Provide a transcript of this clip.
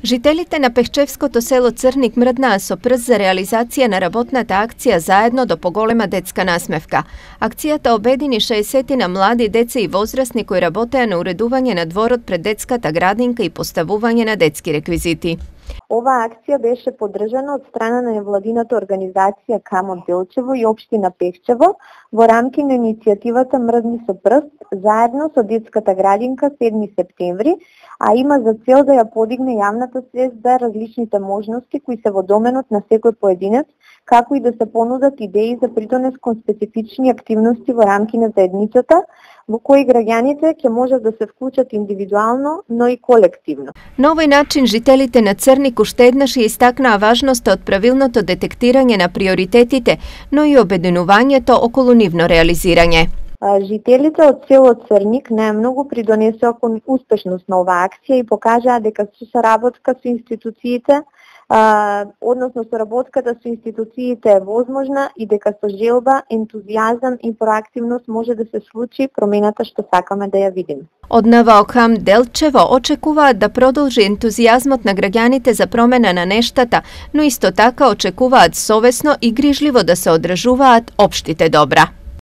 Жителите на Пехчевското село Црник мрднаа со прст за реализација на работната акција Заедно до поголема детска насмевка. Акцијата обедини 60 млади деца и возрастни кои работеа на уредување на дворот пред детската градинка и поставување на детски реквизити. Оваа акција беше поддржана од страна на невладината организација Камот Делчево и општина Пехчево во рамки на иницијативата Мрдни со прст заедно со детската градинка 7 септември, а има за цел да ја подигне јавната свест за различните можности кои се во доменот на секој поединец, како и да се понудат идеи за придонес кон специфични активности во рамки на заедницата, во кои граѓаните ќе можат да се вклучат индивидуално, но и колективно. На овој начин жителите на Црник уште еднаш ја истакнаа важноста од правилното детектирање на приоритетите, но и обединувањето околу нивно реализирање. Жителите од село Црник најмногу придонесоа кон успешност на оваа акција и покажаа дека со соработка со институциите, односно соработката со институциите е возможна и дека со желба, ентузијазам и проактивност може да се случи промената што сакаме да ја видиме. Од НВО-Кам Делчево очекуваат да продолжи ентузијазмот на граѓаните за промена на нештата, но исто така очекуваат совесно и грижливо да се одржуваат општите добра.